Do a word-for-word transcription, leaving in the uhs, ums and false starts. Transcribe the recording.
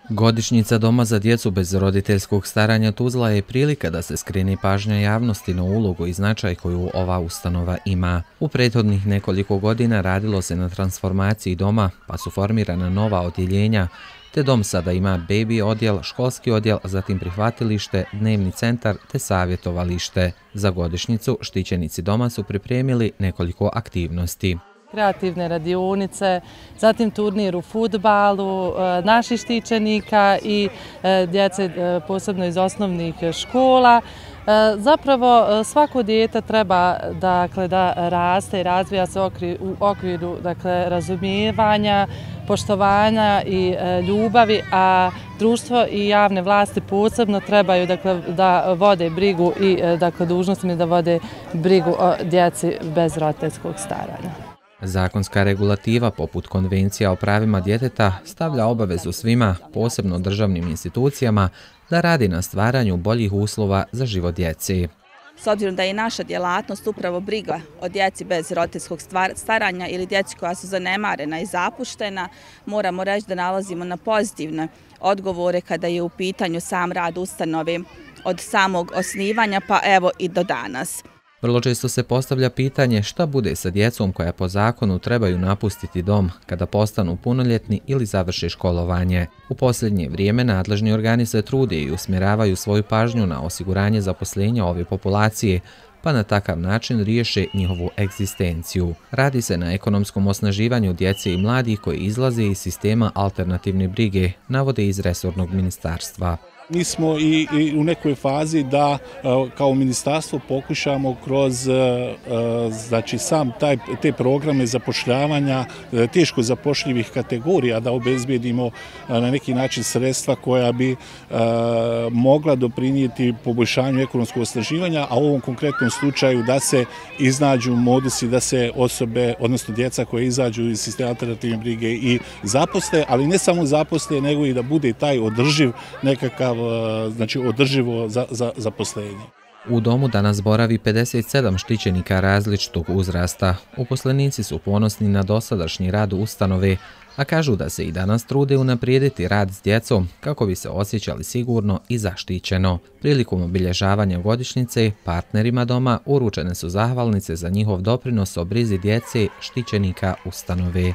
Godišnjica Doma za djecu bez roditeljskog staranja Tuzla je prilika da se skrene pažnja javnosti na ulogu i značaj koju ova ustanova ima. U prethodnih nekoliko godina radilo se na transformaciji doma, pa su formirana nova odjeljenja, te dom sada ima bebi odjel, školski odjel, zatim prihvatilište, dnevni centar te savjetovalište. Za godišnjicu štićenici doma su pripremili nekoliko aktivnosti. Kreativne radionice, zatim turnir u fudbalu, naših štićenika i djece posebno iz osnovnih škola. Zapravo svako dijete treba dakle, da raste i razvija se u okviru dakle, razumijevanja, poštovanja i ljubavi, a društvo i javne vlasti posebno trebaju dakle, da vode brigu i dakle, dužnostima da vode brigu o djeci bez roditeljskog staranja. Zakonska regulativa poput Konvencija o pravima djeteta stavlja obavezu svima, posebno državnim institucijama, da radi na stvaranju boljih uslova za život djeci. S obzirom da je naša djelatnost upravo briga o djeci bez roditeljskog staranja ili djeci koja su zanemarena i zapuštena, moramo reći da nalazimo na pozitivne odgovore kada je u pitanju sam rad ustanove od samog osnivanja pa evo i do danas. Vrlo često se postavlja pitanje šta bude sa djecom koja po zakonu trebaju napustiti dom kada postanu punoljetni ili završe školovanje. U posljednje vrijeme nadležni organi se trude i usmjeravaju svoju pažnju na osiguranje zaposlenja ove populacije, pa na takav način riješe njihovu egzistenciju. Radi se na ekonomskom osnaživanju djece i mladih koji izlaze iz sistema alternativne brige, navode iz resornog ministarstva. Mi smo i, i u nekoj fazi da kao ministarstvo pokušamo kroz znači, sam taj, te programe zapošljavanja teško zapošljivih kategorija da obezbijedimo na neki način sredstva koja bi mogla doprinijeti poboljšanju ekonomskog osnaživanja, a u ovom konkretnom slučaju da se iznađu modusi da se osobe, odnosno djeca koje izađu iz sistema alternativne brige i zaposle, ali ne samo zaposle, nego i da bude taj održiv nekakav znači održivo za, za zaposlenje. U domu danas boravi pedeset sedam štićenika različitog uzrasta. Uposlenici su ponosni na dosadašnji rad ustanove, a kažu da se i danas trude unaprijediti rad s djecom kako bi se osjećali sigurno i zaštićeno. Prilikom obilježavanja godišnjice partnerima doma uručene su zahvalnice za njihov doprinos o brizi djece štićenika ustanove.